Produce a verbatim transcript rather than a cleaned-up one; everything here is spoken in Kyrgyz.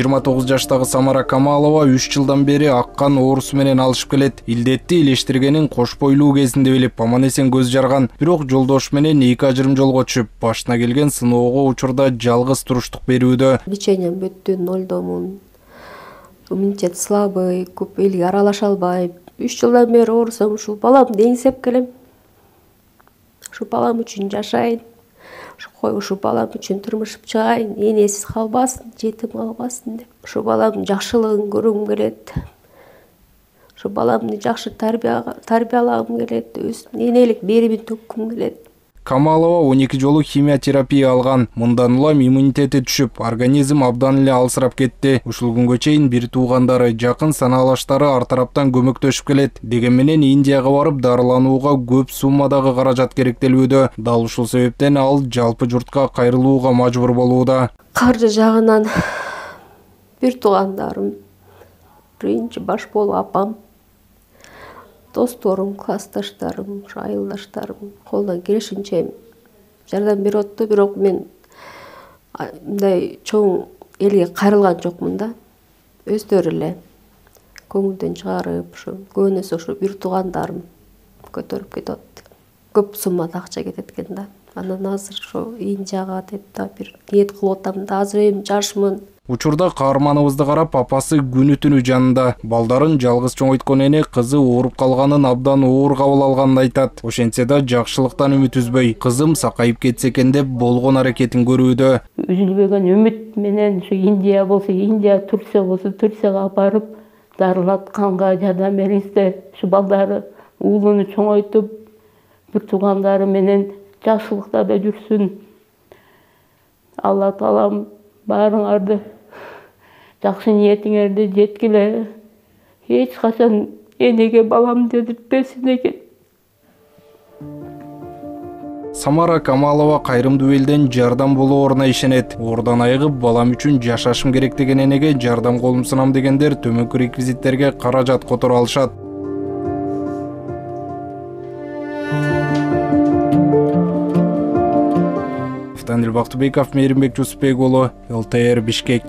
жыйырма тогуз жаштагы Самара Камалова үч жылдан бери аккан оорусу менен алышып келет. Илдетти илештиргенин кош бойлуу кезинде билип, аман-эсен көз жарган. Бирок жолдошу менен эки ажырым жолго түшүп, башына келген сыноого учурда жалгыз туруштук берүүдө. Лечением бүттү, нолдомун. Иммунитет слабый, көп элге аралаша албайм. үч жылдан бери оорусам, ушул баламды эңсеп келем. Ушу балам үчүн жашайын. Кой ушу балам үчүн турмушуп чыгайын, энесиз калбасын, жетим калбасын деп. Ушу баламдын жакшылыгын көргүм келет. Ушу баламды жакшы тарбиялагым келет, өз энелик беримин төккүм келет. Камалова он эки жолу химиотерапия алган. Мындан улам иммунитети түшүп, организм абдан эле алсырап кетти. Ушул күнгө чейин бир туугандары, жакын санаалаштары ар тараптан көмөктөшүп келет. Деген менен Индияга барып дарыланууга көп суммадагы каражат керектелүүдө. Дал ушул себептен ал жалпы журтка кайрылууга мажбур болууда. Каржы жагынан бир туугандарым, биринчи баш болуп апам, досторум, классташтарым, айылдаштарым колдон келишинче жардам берип атты, бирок мен мындай чоң элге кайрылган жокмун да. Өздөрү эле көңүлдөн чыгарып, ушу көбүнесе ушу бир туугандарым көтөрүп кетип атты. Көп суммада акча кетет экен да. Анан азыр ошо Индияга деп да бир ниет кылып атам да, азыр эми жашмын. Учурда каарманыбызды карап, апасы күнү түнү жанында. Балдарын жалгыз чоңойткон эне кызы ооруп калганын абдан оор кабыл алганын айтат. Ошентсе да жакшылыктан үмүт үзбөй, кызым сакайып кетсе экен деп болгон аракетин көрүүдө. Үзүлбөгөн үмүт менен ушу Индия болсо Индия, Турция болсо Турцияга алып барып, дарылатканга жардам бериңиздер. Ушу балдары уулуну чоңойтуп, бир туугандары менен жакшылыкта да жүрсүн. Алла таалам баарыңарды жакшы ниетиңерди жеткиле. Эч качан энеге баламды дедиртпесин экен. Самара Камалова кайрымдуу элден жардам болооруна ишенет. Ордон айыгып, балам үчүн жашашым керек деген энеге жардам колун сунам дегендер төмөнкү реквизиттерге каражат которо алышат. Бактыбеков, Мейримбек Жусупбек уулу, эл тэ эр Бишкек.